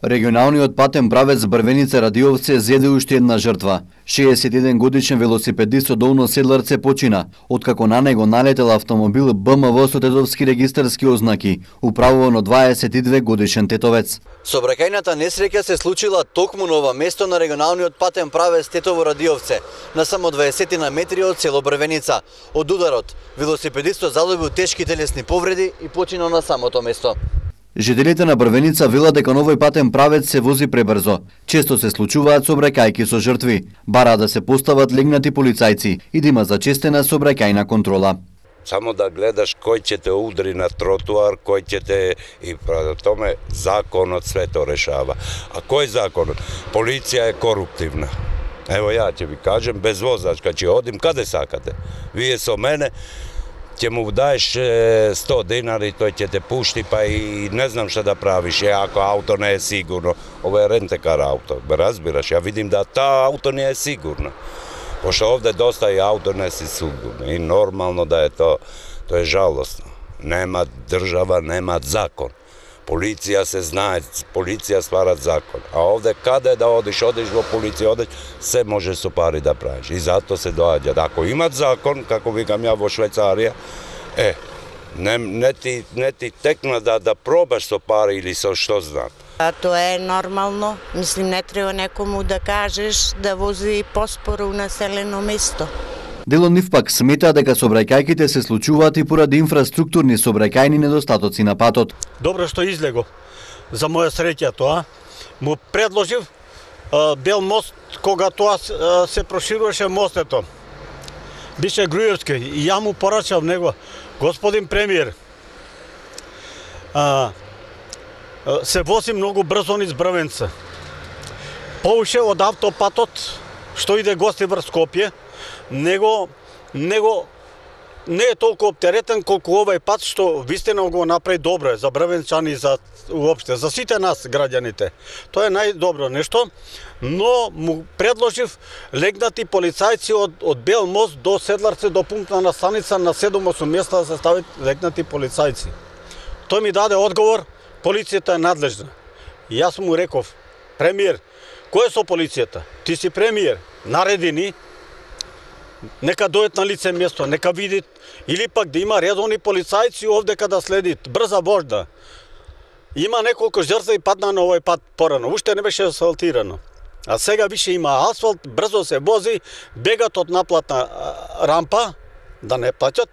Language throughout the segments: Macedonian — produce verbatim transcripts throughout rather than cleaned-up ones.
Регионалниот патен правец Брвеница Радиовце зеде уште една жртва. шеесет и еден годишен велосипедист од Долно Седларце почина, откако на него налетел автомобил Б М В со тетовски регистарски ознаки, управуван од дваесет и две годишен тетовец. Сообраќајната несреќа се случила токму на ова место на регионалниот патен правец Тетово Радиовце, на само дваесет на метри од село Брвеница. Од ударот, велосипедистот задобил тешки телесни повреди и починал на самото место. Жителите на Брвеница велат дека новој патен правец се вози пребрзо. Често се случуваат сообраќајки со жртви. Бара да се постават легнати полицајци и да има зачестена сообраќајна контрола. Само да гледаш кој ќе те удри на тротуар, кој ќе те и пред томе законот све то решава. А кој законот? Полиција е коруптивна. Ево ја ќе ви кажем, без возачка ќе одим каде сакате. Вие со мене ќе му даеш сто динари, тој ќе те пушти, па и не знам што да правиш, е, ако ауто не е сигурно. Ова е рентекар ауто, бе разбираш, ја видим да таа ауто не е сигурна. Пошто овде доста и ауто не си сигурни и нормално да е то, тоа е жалосно. Нема држава, нема закон. Полиција се знае, полиција ствара закон. А овде каде да одиш, одиш во полиција, одиш, се може со пари да правиш. И затоа се доаѓа. Ако имат закон, како викам ја во Швајцарија, е, не, не, ти, не ти текна да, да пробаш со пари или со што знам. А тоа е нормално. Мислим, не треба некому да кажеш да вози поспоро у населено место. Дел од нив пак смета дека сообраќајките се случуваат и поради инфраструктурни сообраќајни недостатоци на патот. Добро што излего. За моја среќа тоа. Му предложив а, бел мост кога тоа а, се прошируваше мостето. Бише Груевски и ја му порачав него, господин премиер, а, а, се вози многу брзо низ Брвенца. Повише од автопатот што иде гости врз Скопје, него, него не е толку оптеретен колку овај пат што вистина го направи добро е за брвенчани, за уопште, за сите нас граѓаните. Тоа е најдобро нешто, но му предложив легнати полицајци од, од Бел мост до Седларце, до пунктна станица на седум-осум места да се стават легнати полицајци. Тој ми даде одговор, полицијата е надлежна. И јас му реков, премиер, кој е со полицијата? Ти си премиер, нареди ни, нека дојдат на лице место, нека видит, или пак да има редовни полицајци овде када следит, брза вожда. Има неколку жртви падна на овој пат порано, уште не беше асфалтирано. А сега више има асфалт, брзо се вози, бегат од наплатна рампа, да не плаќат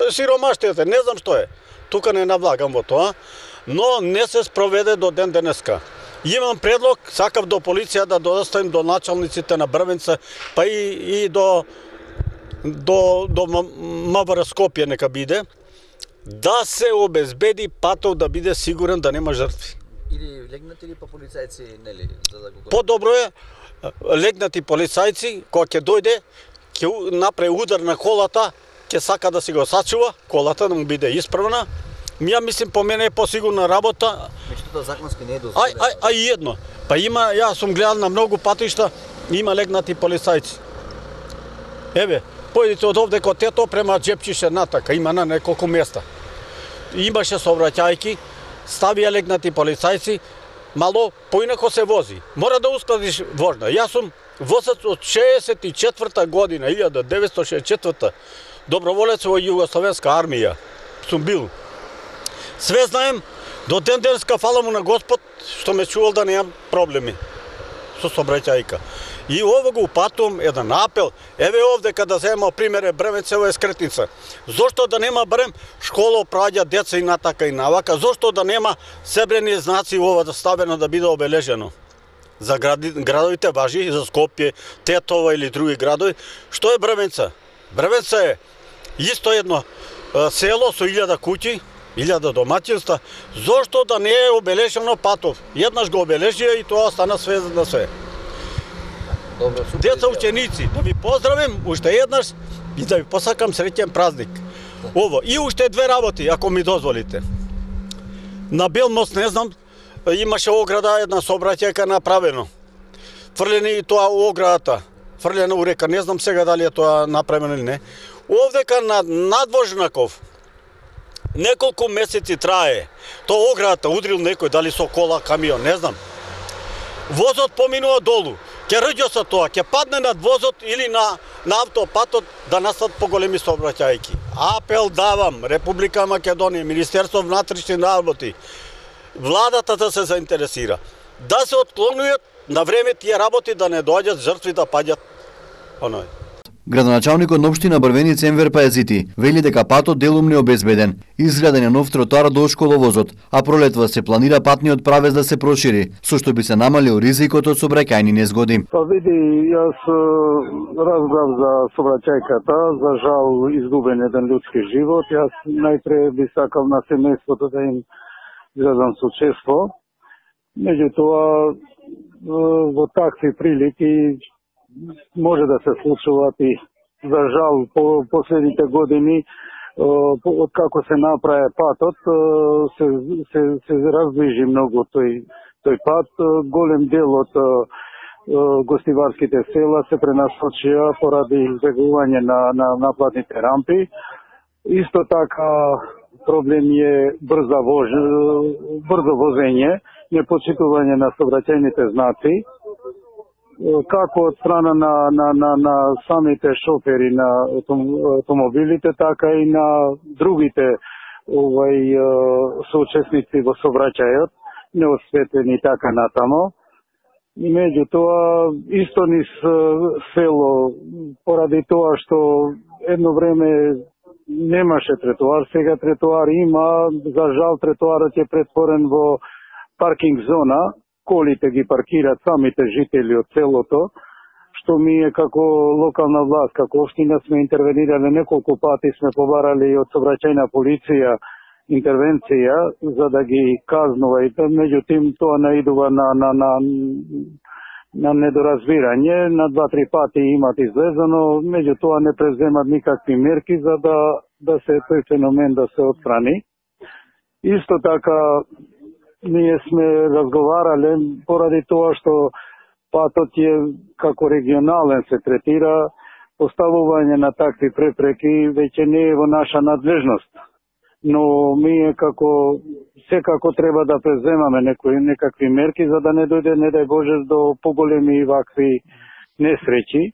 сиромаштијата, не знам што е. Тука не навлагам во тоа, но не се спроведе до ден денеска. Имам предлог, сакав до полиција да доставим до началниците на Брвенца, па и, и до до до МВР Скопје нека биде, да се обезбеди патот да биде сигурен, да нема жртви. Или легнати или па полицајци, нели, за да го... Подобро е легнати полицајци, кога ќе дојде, ќе направи удар на колата, ќе сака да си го сачува, колата да му биде исправна. Ја мислим, по мене е посигурна работа. Меѓутоа законски не е дозволено. Ај, ај, ај и едно. Па има, јас сум гледал на многу патишта, има легнати полицајци. Еве, појдите од овде код Тето према Джепчише натака, има на неколку места. Имаше сообраќајки, ставија легнати полицајци, мало поинако се вози. Мора да ускладиш вожна. Јас сум возач од шеесет и четврта година, илјада деветстотини шеесет и четврта, доброволец во Југословенска армија. Сум бил. Све знаем, до ден денеска фала му на Господ, што ме чувал да немам проблеми со сообраќајка. И ово го упатувам еден апел, еве овде када земам пример е Брвенцево е скретница. Зошто да нема барем школа праѓа деца и натака и навака, зошто да нема себрени знаци ова да ставено да биде обележено? За гради, градовите важи, за Скопје, Тетово или други градови. Што е Брвенца? Брвенца е исто едно село со илјада куќи, илјада домаќинства. Зошто да не е обележено патов? Еднаш го обележија и тоа стана све на све. Добро, супер. Деца ученици, да ви поздравим уште еднаш и да ви посакам среќен празник. Ово, и уште две работи, ако ми дозволите. На Бел мост, не знам, имаше ограда, една сообраќајка направено. Фрлени и тоа у оградата, фрлена у река, не знам сега дали е тоа направено или не. Овдека на надвожнаков, неколку месеци трае. Тоа оградата удрил некој, дали со кола, камион, не знам. возот поминува долу, ќе рѓо со тоа, ќе падне над возот или на, на автопатот да настат поголеми сообраќајки. Апел давам, Република Македонија, Министерство внатрешни работи, владата да се заинтересира, да се отклонуваат на време тие работи, да не доаѓат жртви да паѓат оној. Градоначалникот на општина Брвеница Енвер Пајазити вели дека патот делум не обезбеден. Изграден е нов тротоар до школовозот, а пролетва се планира патниот правец да се прошири, со што би се намалил ризикот од сообраќајни незгоди. Па види, јас разглав за сообраќајката, за жал изгубен еден людски живот. Јас најпре би сакал на семејството да им изразам сочувство. Меѓутоа, во такви прилики може да се случуваат и за жал по последните години од како се направи патот се се се раздвижи многу тој тој пат. Голем дел од гостиварските села се пренасочија поради избегување на на наплатните рампи. Исто така проблем е брза воз брзо возење, непочитување на сообраќајните знаци, како од страна на, на, на, на самите шофери на автомобилите, така и на другите овај соучесници во сообраќајот, неосветени така натамо. Меѓутоа, исто низ село, поради тоа што едно време немаше тротоар, сега тротоар има, за жал тротоарот е претворен во паркинг зона, колите ги паркираат самите жители од селото, што ми е како локална власт, како општина сме интервенирале неколку пати, сме побарали од сообраќајна полиција интервенција за да ги казнува, и меѓутоа тоа наидува на на на на недоразбирање. На два-три пати имат излезено, меѓутоа не преземат никакви мерки за да да се тој феномен да се отстрани. Исто така ние сме разговарале поради тоа што патот е како регионален се третира, поставување на такви препреки веќе не е во наша надлежност. Но ние како секако треба да преземаме некои некакви мерки за да не дојде, не дај Боже, до поголеми вакви несреќи.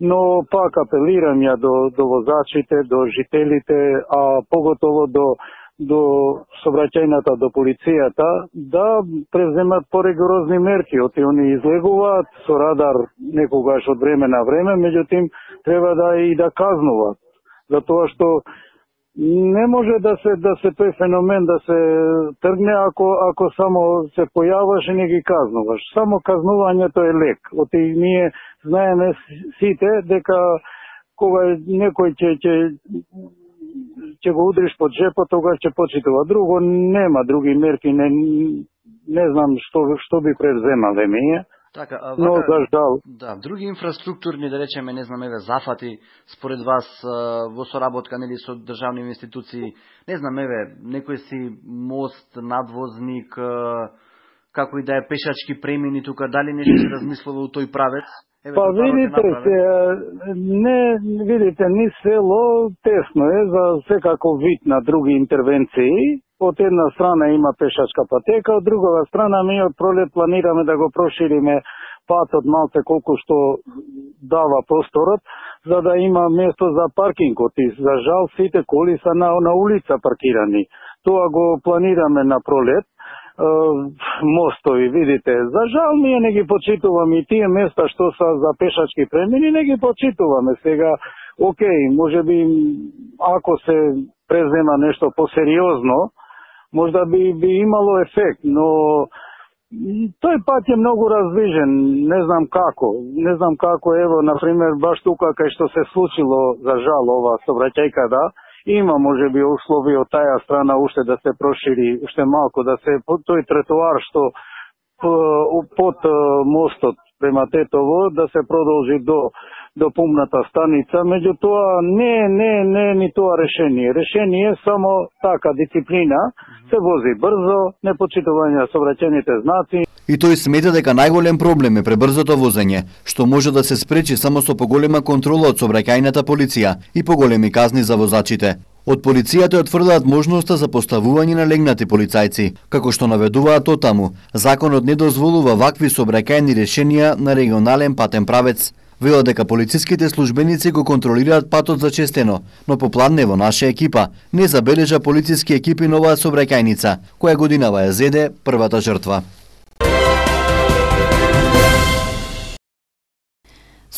Но пак апелирам ја до, до возачите, до жителите, а поготово до до сообраќајната, до полицијата, да преземат поригорозни мерки. Оти они излегуваат со радар некогаш од време на време, меѓутоа треба да и да казнуваат. Затоа што не може да се да се тој феномен да се тргне ако ако само се појаваш и не ги казнуваш. Само казнувањето е лек. Оти ние знаеме сите дека кога некој ќе ќе ќе го удриш под джепот, тогаш ќе почитува. Друго нема, други мерки, не не знам што што би превземале ние. Така, а, но за жал. Да, други инфраструктурни, да речеме, не знам, еве, зафати, според вас, во соработка, нели, со државни институции, не знам, еве, некој си мост, надвозник, како и да е пешачки премини тука, дали нешто се размислува у тој правец? Еве, па видите се, не, видите, ни село тесно е за секако вид на други интервенции. Од една страна има пешачка патека, од друга страна ми од пролет планираме да го прошириме патот малце колку што дава просторот, за да има место за паркингот. И за жал сите коли се на, на улица паркирани. Тоа го планираме на пролет. Мостови, видите, за жал ние не ги почитуваме и тие места што са за пешачки премини, не ги почитуваме. Сега, окей, може би ако се презема нешто посериозно, можда би, би имало ефект, но тој пат е многу раздвижен, не знам како, не знам како, ево, например, баш тука кај што се случило, за жал, ова сообраќајка, да, има, може би, услови од таја страна уште да се прошири, уште малко, да се, тој тротоар што под мостот према Тетово, да се продолжи до до пумната станица, меѓутоа не, не, не ни тоа решение. Решение е само така дисциплина, се вози брзо, непочитување на сообраќајните знаци. И тој смета дека најголем проблем е пребрзото возење, што може да се спречи само со поголема контрола од сообраќајната полиција и поголеми казни за возачите. Од полицијата отврдуваат можноста за поставување на легнати полицајци, како што наведуваат отаму. Законот не дозволува вакви сообраќајни решенија на регионален патен правец. Велат дека полициските службеници го контролираат патот за честено, но попладне во наша екипа не забележа полициски екипи на оваа сообраќајница, која годинава ја зеде првата жртва.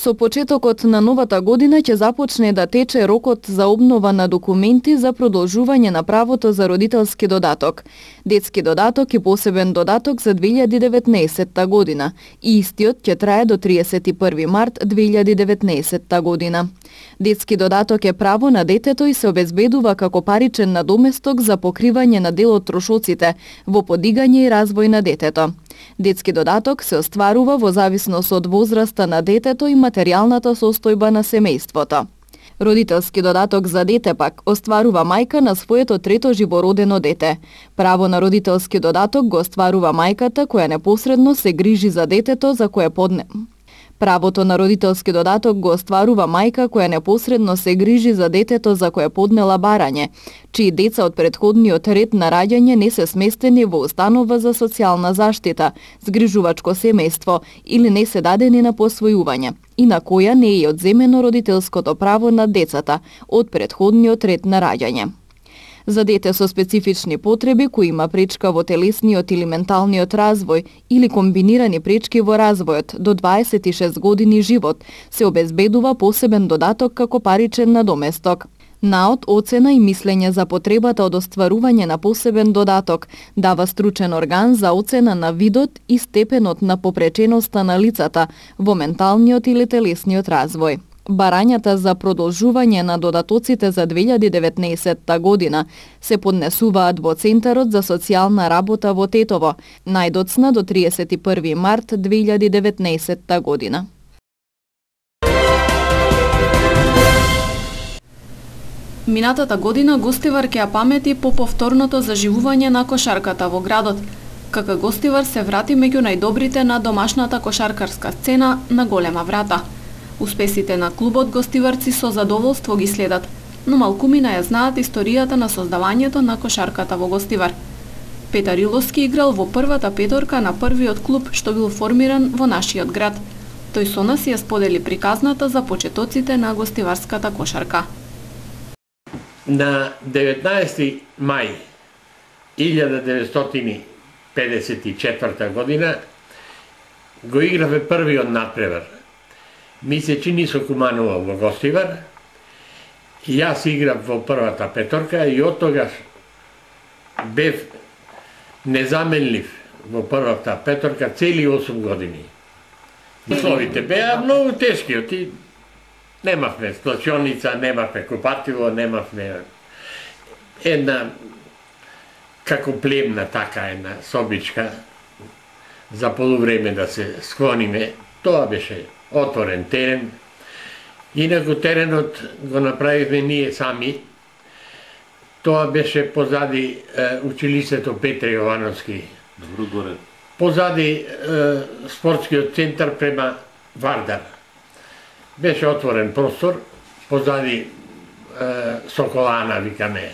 Со почетокот на новата година ќе започне да тече рокот за обнова на документи за продолжување на правото за родителски додаток. Детски додаток и посебен додаток за две илјади и деветнаесетта година и истиот ќе трае до триесет и први март две илјади и деветнаесетта година. Детски додаток е право на детето и се обезбедува како паричен надоместок за покривање на дел од трошоците во подигање и развој на детето. Детски додаток се остварува во зависност од возраста на детето и материјалната состојба на семејството. Родителски додаток за дете пак остварува мајка на своето трето живородено дете. Право на родителски додаток го остварува мајката која непосредно се грижи за детето за кое подне. Правото на родителски додаток го остварува мајка која непосредно се грижи за детето за кое поднела барање, чии деца од претходниот ред на раѓање не се сместени во установа за социјална заштита, згрижувачко семејство или не се дадени на посвојување, и на која не е одземено родителското право на децата од претходниот ред на раѓање. За дете со специфични потреби кои има пречка во телесниот или менталниот развој или комбинирани пречки во развојот до дваесет и шест години живот се обезбедува посебен додаток како паричен надоместок. Наод, оцена и мислење за потребата од остварување на посебен додаток дава стручен орган за оцена на видот и степенот на попреченоста на лицата во менталниот или телесниот развој. Барањата за продолжување на додатоците за две илјади и деветнаесетта година се поднесуваат во Центарот за социјална работа во Тетово, најдоцна до триесет и први март две илјади и деветнаесетта година. Минатата година Гостивар ќе ја памети по повторното заживување на кошарката во градот. ка ка Гостивар се врати меѓу најдобрите на домашната кошаркарска сцена на голема врата. Успесите на клубот гостиварци со задоволство ги следат, но малкумина ја знаат историјата на создавањето на кошарката во Гостивар. Петар Иловски играл во првата петорка на првиот клуб што бил формиран во нашиот град. Тој со нас ја сподели приказната за почетоците на гостиварската кошарка. На деветнаесети мај илјада деветстотини педесет и четврта година го играве првиот надпревар. Ми се чини со Куманова во Гостивар, и јас играв во првата петорка и од тогаш бев незаменлив во првата петорка цели осум години. Условите беа многу тешки, оти немавме сплачоница, немавме купатило, немавме една како племна така една собичка за полувреме да се склониме. Тоа беше отворен терен. Инаку теренот го направивме ние сами. Тоа беше позади е, училиштето Петре Јовановски. Добро горе. Позади е, спортскиот центар према Вардар. Беше отворен простор, позади е, Соколана, викаме.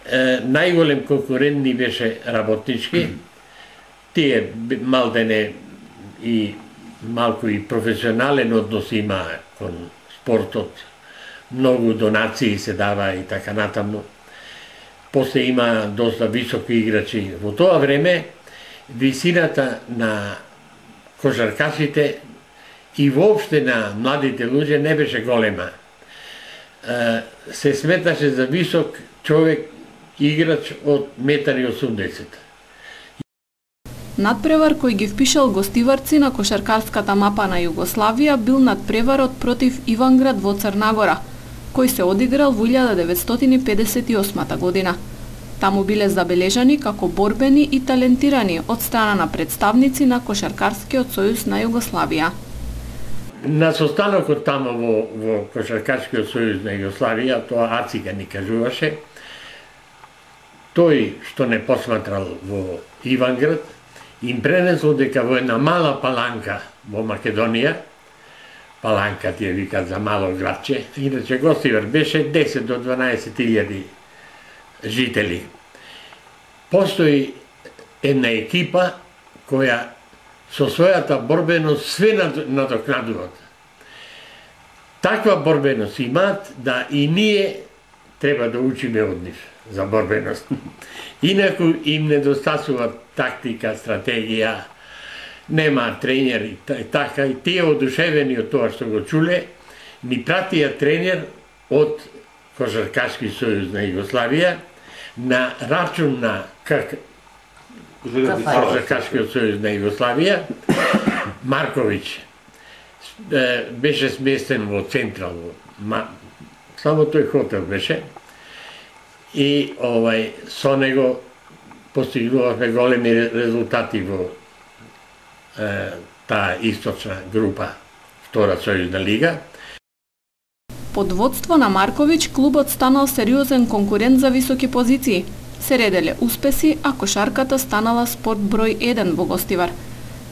Е, најголем конкурент ни беше работнички. Тие малдене и малку и професионален однос има кон спортот. Многу донации се дава и така натаму. После има доста високи играчи. Во тоа време висината на кошаркашите и воопште на младите луѓе не беше голема. Се сметаше за висок човек играч од метар и осумдесет. Надпревар кој ги впишал гостиварци на кошаркарската мапа на Југославија бил надпреварот против Иванград во Црнагора, кој се одиграл во илјада деветстотини педесет и осма година. Таму биле забележани како борбени и талентирани од страна на представници на Кошаркарскиот сојуз на Југославија. На состанокот таму во, во Кошаркарскиот сојуз на Југославија, тоа Ацика ни кажуваше, тој што не посматрал во Иванград, им пренесло дека во една мала паланка во Македонија, Паланка ти ја викат за мало градче. Иначе Гостивар беше десет до дванаесет илјади жители. Постои една екипа која со својата борбеност све надокнадуваат. Таква борбеност имаат да и ние треба да учиме од нив за борбеност. Инаку им недостасува тактика, стратегија, нема тренери, така и тие одушевени од тоа што го чуле, ни пратија тренер од Кошаркашки сојуз на Југославија на рачун на как Кошаркашкиот сојуз на Југославија, Марковиќ. Беше сместен во Централ, само тој хотел беше. И овај со него постигнувавме големи резултати во е, таа источна група, втора сојузна лига. Под водство на Марковиќ клубот станал сериозен конкурент за високи позиции. Се ределе успеси, а кошарката станала спорт број еден во Гостивар.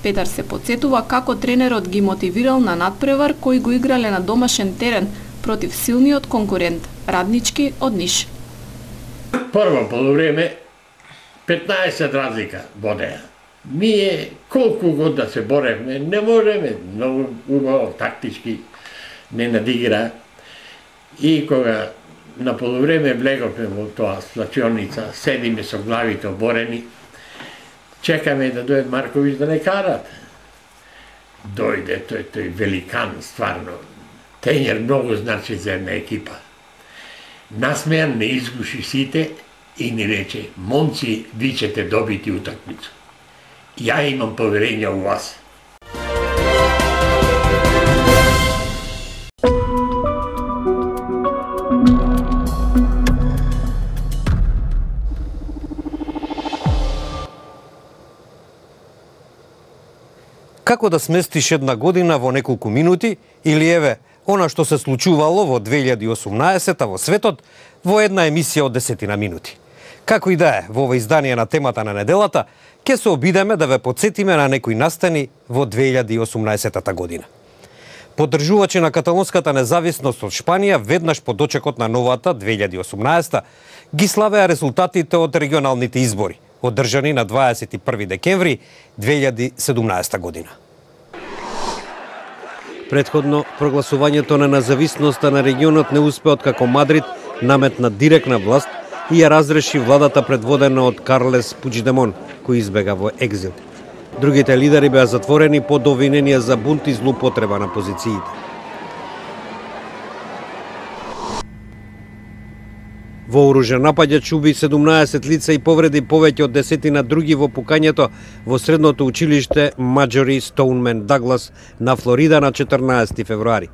Петар се потсетува како тренерот ги мотивирал на надпревар кој го играле на домашен терен против силниот конкурент, Раднички од Ниш. Прво полувреме петнаесет разлика водеа. Ние колку год да се боревме, не можеме, многу убаво тактички не надигра. И кога на полувреме влеговме во тоа слачионица, седиме со главите оборени, чекаме да дојде Марковиќ да не карат. Дојде тој, тој великан, стварно. Тренер многу значи за една екипа. Насмејан, не изгуши сите и ни рече: момци, ви ćete добити утакмицу. Ја имам поверење у вас. Како да сместиш една година во неколку минути, или еве, она што се случувало во две илјади и осумнаесета во светот во една емисија од десетина минути. Како и да е, во ова издание на темата на неделата, ќе се обидеме да ве подсетиме на некои настани во две илјади и осумнаесета година. Поддржувачи на каталонската независност од Шпанија веднаш по дочекот на новата две илјади и осумнаесета ги славеа резултатите од регионалните избори, одржани на дваесет и први декември две илјади и седумнаесета година. Предходно, прогласувањето на независноста на регионот не успе откако Мадрид наметна директна власт и ја разреши владата предводена од Карлес Пучдемон, кој избега во екзил. Другите лидери беа затворени под обвиненија за бунт и злоупотреба на позициите. Вооружен напаѓач уби седумнаесет лица и повреди повеќе од десетина други во пукањето во средното училиште Маџори Стоунмен Даглас на Флорида на четрнаесети февруари.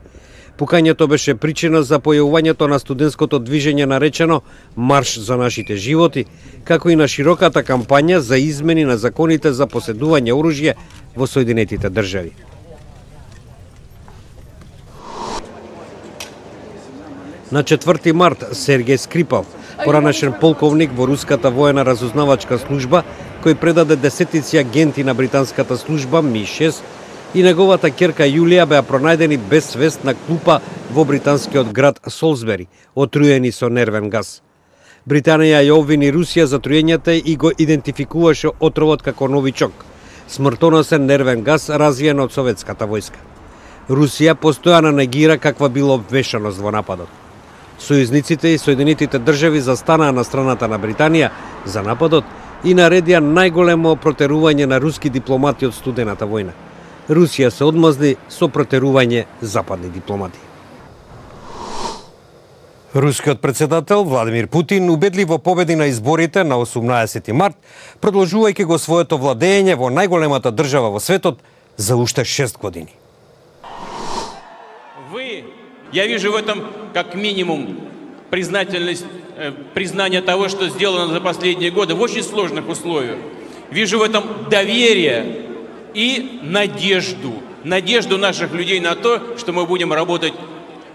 Пукањето беше причина за појавувањето на студентското движење наречено Марш за нашите животи, како и на широката кампања за измени на законите за поседување оружје во Соединетите држави. На четврти март Сергеј Скрипал, поранешен полковник во руската воена разузнавачка служба, кој предаде десетици агенти на британската служба Ми шест, и неговата ќерка Јулија беа пронајдени без свест на клупа во британскиот град Солсбери, отруени со нервен газ. Британија ја обвини Русија за труењата и го идентификуваше отровот како новичок, смртоносен нервен газ развиен од советската војска. Русија постојано негира каква била вмешаност во нападот. Сојузниците и Соединетите држави застанаа на страната на Британија за нападот и наредија најголемо протерување на руски дипломати од студената војна. Русија се одмазни со протерување западни дипломати. Рускиот председател Владимир Путин убедливо победи на изборите на осумнаесети март, продолжувајќи го своето владење во најголемата држава во светот за уште шест години. Вы, я вижу в этом как минимум признательность, признание того, что сделано за последние годы в очень сложных условиях. Вижу в этом доверие и надежду. Надежду наших людей на то, что мы будем работать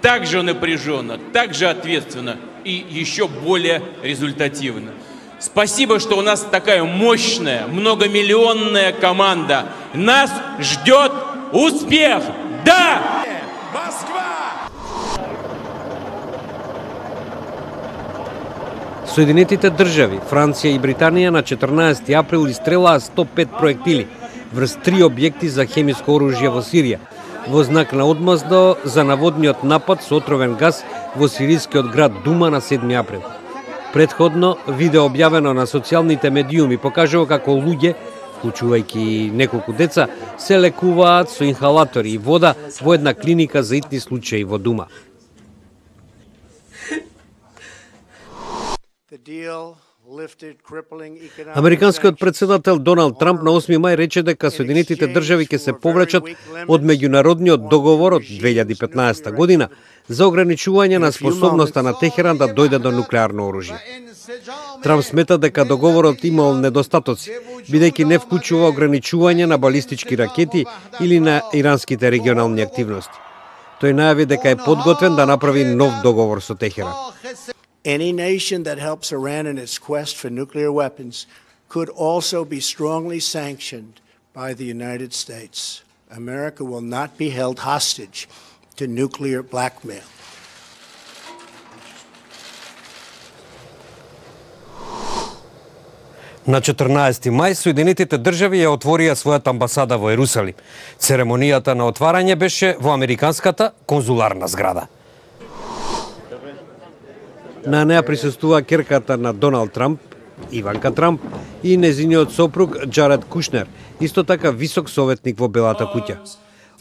так же напряженно, так же ответственно и еще более результативно. Спасибо, что у нас такая мощная, многомиллионная команда. Нас ждет успех! Да! Соединетите држави, Франција и Британија на четрнаесети април истрелаа сто пет проектили врз три објекти за хемиско оружје во Сирија, во знак на одмазда за наводниот напад со отровен газ во сирискиот град Дума на седми април. Предходно, видео објавено на социјалните медиуми покажува како луѓе, вклучувајќи неколку деца, се лекуваат со инхалатори и вода во една клиника за итни случаи во Дума. Американскиот председател Доналд Трамп на осми мај рече дека Соединетите држави ќе се повлечат од меѓународниот договор од две илјади и петнаесета година за ограничување на способноста на Техеран да дојде до нуклеарно оружје. Трамп смета дека договорот имал недостатоци, бидејќи не вклучува ограничување на балистички ракети или на иранските регионални активности. Тој најави дека е подготвен да направи нов договор со Техеран. Any nation that helps Iran in its quest for nuclear weapons could also be strongly sanctioned by the United States. America will not be held hostage to nuclear blackmail. На четрнаесети мај Соединетите држави ја отворија својата амбасада во Ерусалим. Церемонијата на отварање беше во американската конзуларна зграда. На неа присуствува керката на Доналд Трамп, Иванка Трамп и незиниот сопруг Джаред Кушнер, исто така висок советник во Белата куќа.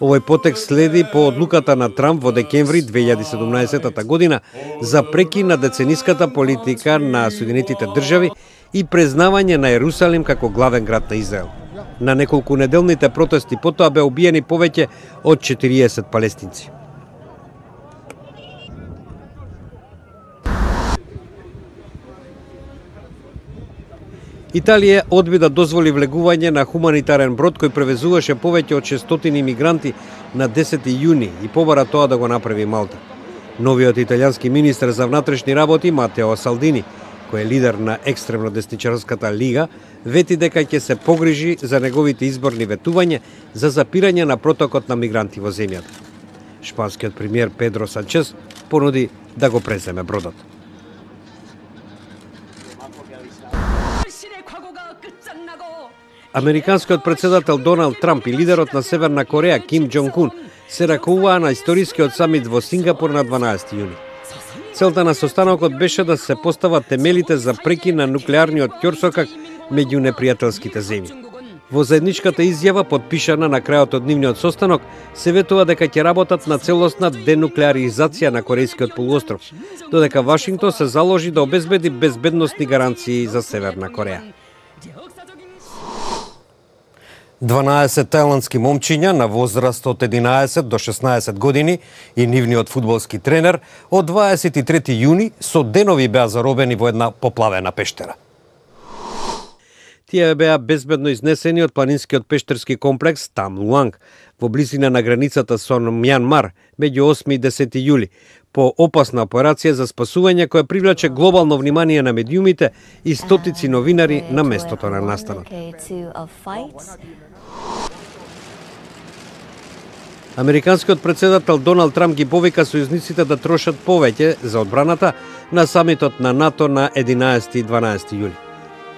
Овој потек следи по одлуката на Трамп во декември две илјади и седумнаесета година за прекин на децениската политика на Соединетите држави и признавање на Ерусалим како главен град на Израел. На неколку неделните протести потоа бе убиени повеќе од четириесет палестинци. Италија одби да дозволи влегување на хуманитарен брод кој превезуваше повеќе од шестстотини мигранти на десети јуни и побара тоа да го направи Малта. Новиот италијански министер за внатрешни работи Матео Салдини, кој е лидер на екстремно десничарската лига, вети дека ќе се погрижи за неговите изборни ветувања за запирање на протокот на мигранти во земјата. Шпанскиот премиер Педро Санчес понуди да го преземе бродот. Американскиот председател Доналд Трамп и лидерот на Северна Кореја Ким Џонг Ун се ракуваа на историскиот самит во Сингапур на дванаесети јуни. Целта на состанокот беше да се постават темелите за прекин на нуклеарниот ќорсокак меѓу непријателските земји. Во заедничката изјава, подпишана на крајот од нивниот состанок, се ветува дека ќе работат на целосна денуклеаризација на Корејскиот полуостров, додека Вашингтон се заложи да обезбеди безбедносни гаранции за Северна Кореја. дванаесет тајландски момчиња на возраст од единаесет до шеснаесет години и нивниот фудбалски тренер од дваесет и трети јуни со денови беа заробени во една поплавена пештера. Тие беа безбедно изнесени од планинскиот пештерски комплекс Там Луанг во близина на границата со Мјанмар меѓу осми и десети јули по опасна операција за спасување која привлече глобално внимание на медиумите и стотици новинари на местото на настанот. Американскиот председател Доналд Трамп ги повика сојузниците да трошат повеќе за одбраната на самитот на НАТО на единаесети и дванаесети јули.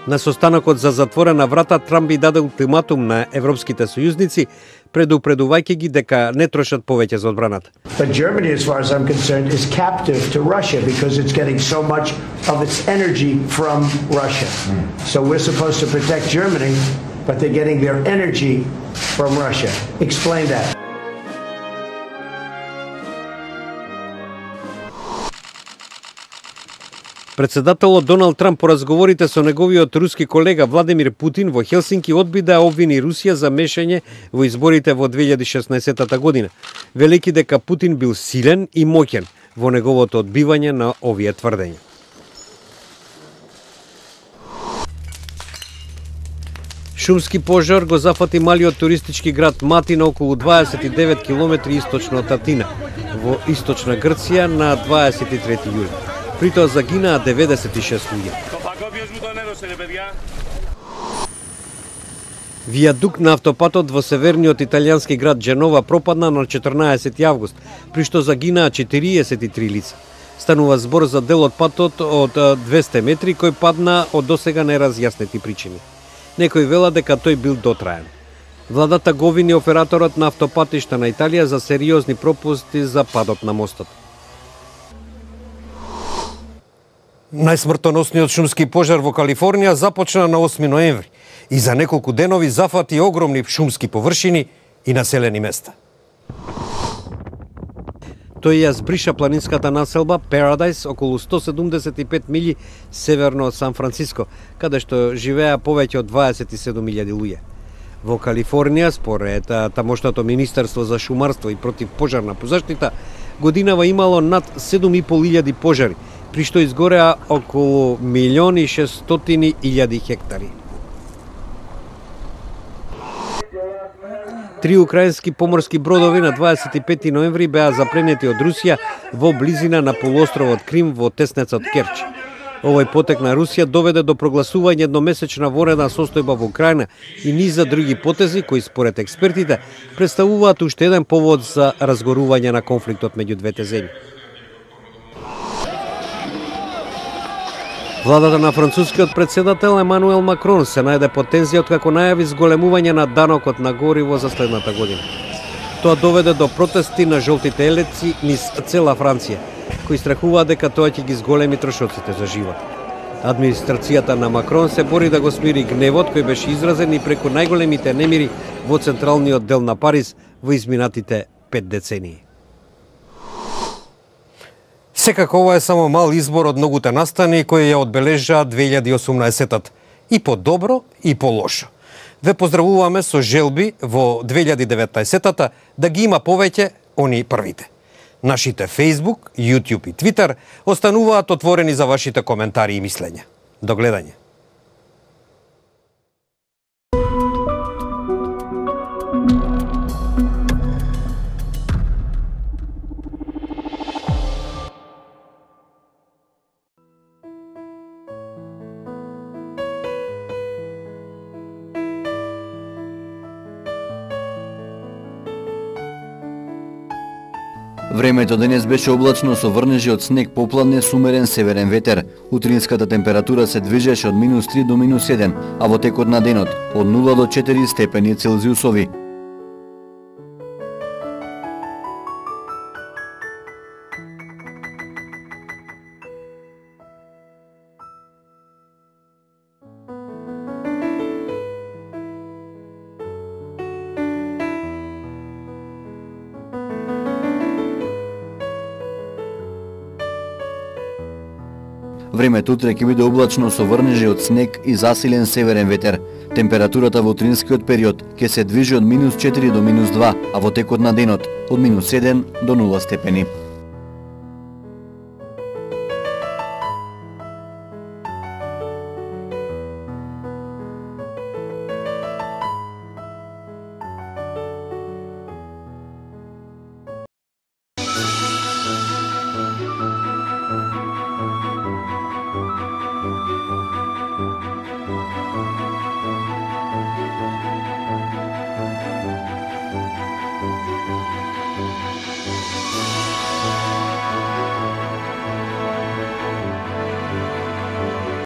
На состанокот за затворена врата Трамп би даде ултиматум на европските сојузници, предупредувајќи ги дека не трошат повеќе за одбраната. But Germany, as far as I'm concerned, is captive to Russia because it's getting so much of its energy from Russia. So we're supposed to protect Germany, but they're getting their energy from Russia. Explain that. Председателот Доналд Трамп по разговорите со неговиот руски колега Владимир Путин во Хелсинки одби да обвини Русија за мешање во изборите во две илјади и шеснаесета година, велики дека Путин бил силен и моќен во неговото одбивање на овие тврдења. Шумски пожар го зафати малиот туристички град Мати на околу дваесет и девет километри источно од Атина, во источна Грција на дваесет и трети јули. При тоа загинаа деветдесет и шест луѓе. Вијадук на автопатот во северниот италијански град Дженова пропадна на четрнаесети август, при што загинаа четириесет и три лица. Станува збор за дел од патот од двесте метри кој падна од досега неразјаснети причини. Некои велат дека тој бил дотраен. Владата го обвини операторот на автопатишта на Италија за сериозни пропусти за падот на мостот. Најсмртоносниот шумски пожар во Калифорнија започна на осми ноември и за неколку денови зафати огромни шумски површини и населени места. Тој ја збриша планинската населба Парадайс околу сто седумдесет и пет милји северно од Сан Франциско, каде што живеа повеќе од дваесет и седум илјади луѓе. Во Калифорнија, според тамошното Министерство за шумарство и противпожарна заштита, годинава имало над седум и пол илјади пожари, при што изгореа околу милион и шестстотини илјади хектари. Три украински поморски бродови на дваесет и пети ноември беа запленети од Русија во близина на полуостровот Крим во теснецот Керч. Овој потек на Русија доведе до прогласување едномесечна военна состојба во Украина и низа други потези кои според експертите представуваат уште еден повод за разгорување на конфликтот меѓу двете земји. Владата на францускиот председател Емануел Макрон се најде под тензија откако најави зголемување на данокот на гориво за следната година. Тоа доведе до протести на жолтите елеци низ цела Франција, кои страхуваат дека тоа ќе ги зголеми трошоците за живот. Администрацијата на Макрон се бори да го смири гневот кој беше изразен и преку најголемите немири во централниот дел на Париз во изминатите пет децении. Секако ова е само мал избор од многуте настани кои ја одбележа две илјади и осумнаесетата, и по добро и по лошо. Ве поздравуваме со желби во две илјади и деветнаесетата да ги има повеќе они првите. Нашите Facebook, YouTube и Twitter остануваат отворени за вашите коментари и мислења. До гледање. Времето денес беше облачно со врнежи од снег, попладне, с умерен северен ветер. Утринската температура се движеше од минус три до минус еден, а во текот на денот од нула до четири степени Целзиусови. Времето утре ќе биде облачно со врнежи од снег и засилен северен ветер. Температурата во утринскиот период ќе се движи од минус четири до минус два, а во текот на денот од минус еден до нула степени.